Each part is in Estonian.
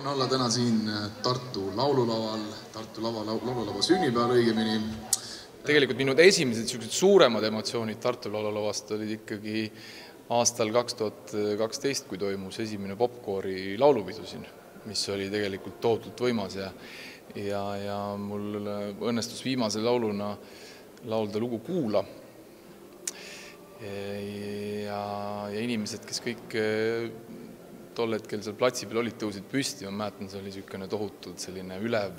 on olla täna siin Tartu laululaval, laululava sünnipäeval õigemini. Tegelikult minu esimesed suuremad emotsioonid Tartu laululavast olid ikkagi aastal 2012, kui toimus esimene popkoori laulupidu siin, mis oli tegelikult tohutult võimas ja mul õnnestus viimase lauluna laulda lugu Kuula. Ja inimesed, kes kõik tol hetkel seal platsi peal olid, tõusid püsti, ma mäletan, see oli niisugune tohutult selline ülev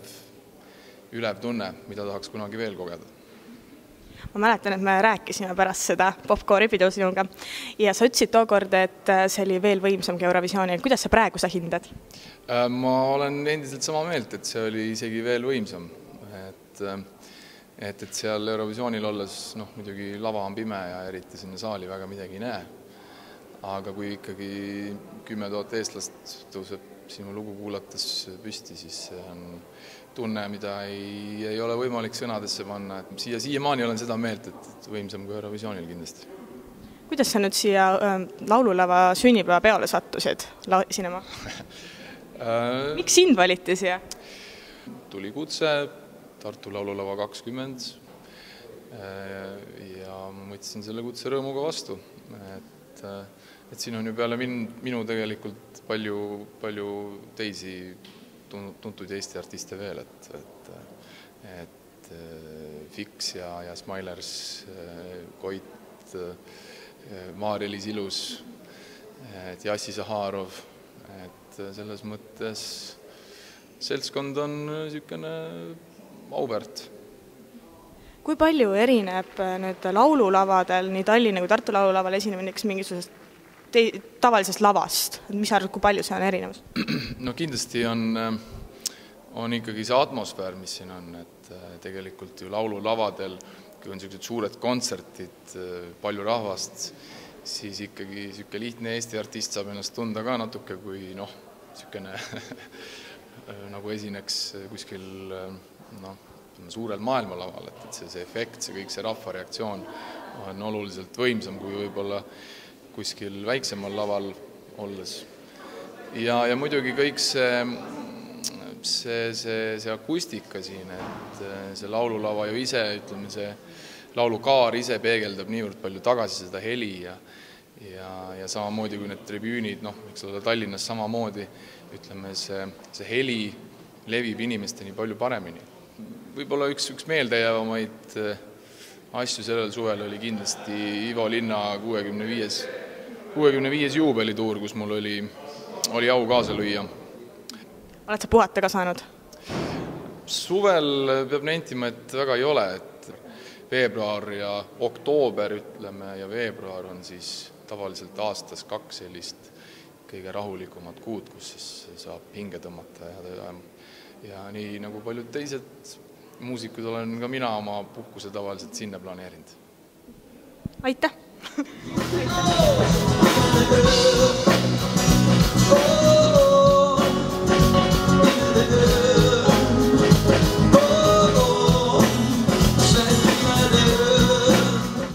tunne, mida tahaks kunagi veel kogeda. Ma mäletan, et me rääkisime pärast seda popkoori pidu sinuga ja sa ütlesid tookord, et see oli veel võimsamgi Eurovisioonil. Kuidas sa praegu sa hindad? Ma olen endiselt sama meelt, et see oli isegi veel võimsam. Et seal Eurovisioonil olles, muidugi lava on pime ja eriti sinna saali väga midagi ei näe. Aga kui ikkagi 10 000 eestlast tõuseb sinu lugu kuulates püsti, siis see on tunne, mida ei ole võimalik sõnadesse panna. Siiamaani olen seda meelt, et võimsam kui Eurovisioonil kindlasti. Kuidas sa nüüd siia laululava sünnipäeva peale sattusid sinema? Miks sind valiti siia? Tuli kutse Tartu laululava 20 ja ma võtsin selle kutse rõõmuga vastu. Et siin on ju peale minu tegelikult palju teisi tuntuid Eesti artiste veel, et Fix ja Smilers, Koit, Maarja-Liis Ilus, Jassi Zaharov, et selles mõttes seltskond on niisugune auväärt. Kui palju erineb nüüd laululavadel, nii Tallinna kui Tartu laululaval esinemine mingisugusest tavalisest lavast? Mis arvad, kui palju see on erinevus? No kindlasti on ikkagi see atmosfäär, mis siin on, et tegelikult ju laululavadel, kui on sellised suured kontsertid, palju rahvast, siis ikkagi niisugune lihtne Eesti artist saab ennast tunda ka natuke kui niisugune nagu esineks kuskil suurel maailmalaval, et see efekt, see kõik see rahvareaktsioon on oluliselt võimsam kui võib-olla kuskil väiksemal laval olles. Ja muidugi kõik see akustika siin, et see laululava ju ise, ütleme see laulukaar ise peegeldab niivõrd palju tagasi seda heli ja samamoodi kui need tribüünid, eks ole Tallinnas samamoodi, ütleme see heli levib inimesteni palju paremini. Võib-olla üks meeldejäävamaid asju sellel suvel oli kindlasti Ivo Linna 65 juubelituur, kus mul oli au kaasa lüüa. Oled sa puhata ka saanud? Suvel peab nentima, et väga ei ole, et veebruar ja oktoober ütleme ja veebruar on siis tavaliselt aastas 2 sellist kõige rahulikumat kuud, kus siis saab hinge tõmmata ja nii nagu paljud teised muusikud olen ka mina oma puhkuse tavaliselt sinna planeerinud. Aitäh!